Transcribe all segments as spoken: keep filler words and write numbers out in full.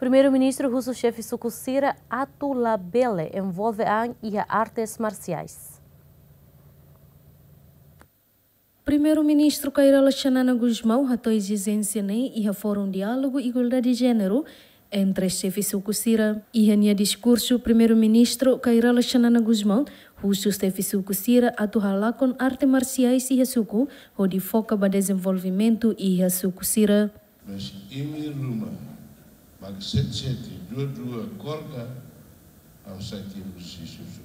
Primeiru-Ministru husu xefe suku sira atu labele envolve an iha artes marsiais. Primeiru-Ministru Kay Rala Xanana Gusmão hato'o ezijénsia ne'e iha Fórum Diálogu Igualdade Jéneru entre xefe suku sira. Iha nia diskursu, Primeiru-Ministru Kay Rala Xanana Gusmão husu xefe suku sira atu halakon arte marsiais iha suku, hodi foka ba dezenvolvimentu iha suku sira. Mas imi ruma, mak sete sete, dua dua, korka, ha'u sai tiha husi suku.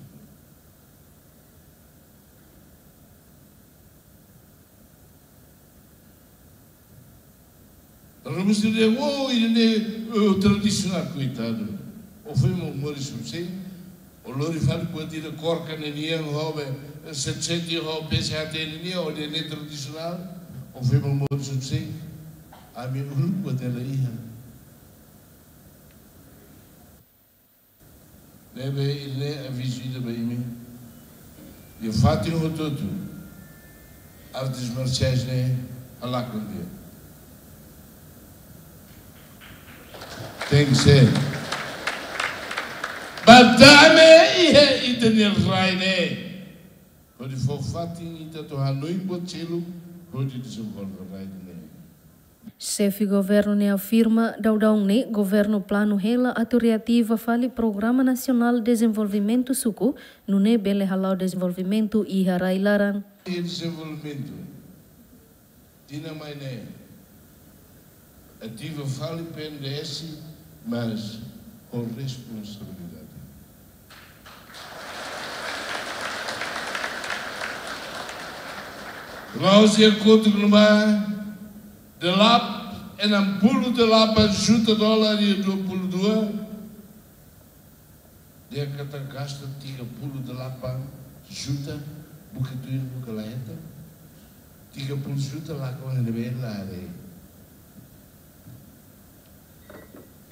Ruma sira dehan, oh, ida-ne'e, oh, tradisionál, koitadu. Ó foin mak moris husi, ó lori fali buat ida korka ne'e nian, ho be, sete sete, ho P C H T ne'e nian, ó dehan ne'e tradisionál, ó foin mak moris husi. Ami uluk buat ida la iha. Ne'ebé ida-ne'e avizu ida ba imi. Iha fatin hotu-hotu, artes marsiais ne'e halakon tiha. Tenke ser. Ba dame iha ita-nia rai ne'e. Hodi fó fatin ita atu hanoin buat seluk, hodi dezenvolve rai ne'e. Xefe governu ne'e afirma, daudaun ne'e governu planu hela atu reativa fali Programa Nasionál Dezenvolvimentu Suku, nune'e bele hala'o dezenvolvimentu iha rai-laran. Dezenvolvimentu. Tinan mai ne'e, ativa fali P N D S, mas ho responsabilidade. La'ós iha kotuk ne'ebá, delapan, enam puluh delapan juta dolar iha dua puluh dua, dehan katak gasta tiga puluh delapan juta, buka tuir, buka la hetan. Tiga puluh juta lakon iha ne'ebé, la haree.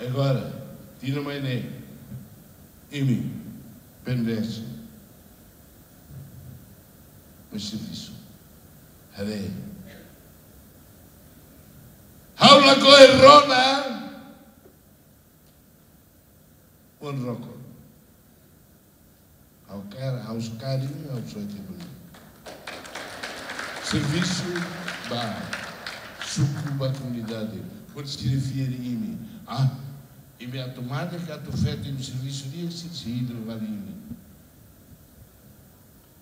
Agora, tinan mai ne'e, imi, P N D S, mai servisu. Haree. Ha'u lakohi rona, wan rokon. Ha'u kar, ha'u sekali, ha'u soe tiha bolu. Servisu ba suku, ba komunidade. Hodi sira fiar imi. Ah, imi atu mate ka atu feto, imi servisu di'ak, sira sei hidru fali imi.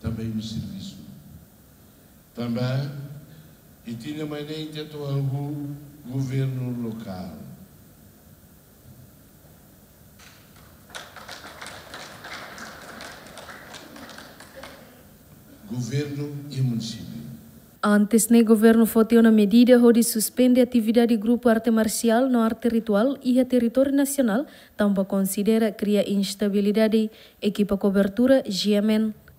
Tanba imi servisu. Tanba, iha tinan mai ne'e ita atu hahú governu lokál. Governu iha munisípiu. Antes ne'e, governu foti ona medida hodi suspende atividade grupu arte marsiál no arte rituál iha territóriu nasionál, tanba konsidera kria instabilidade. Ekipa kobertura, G M N.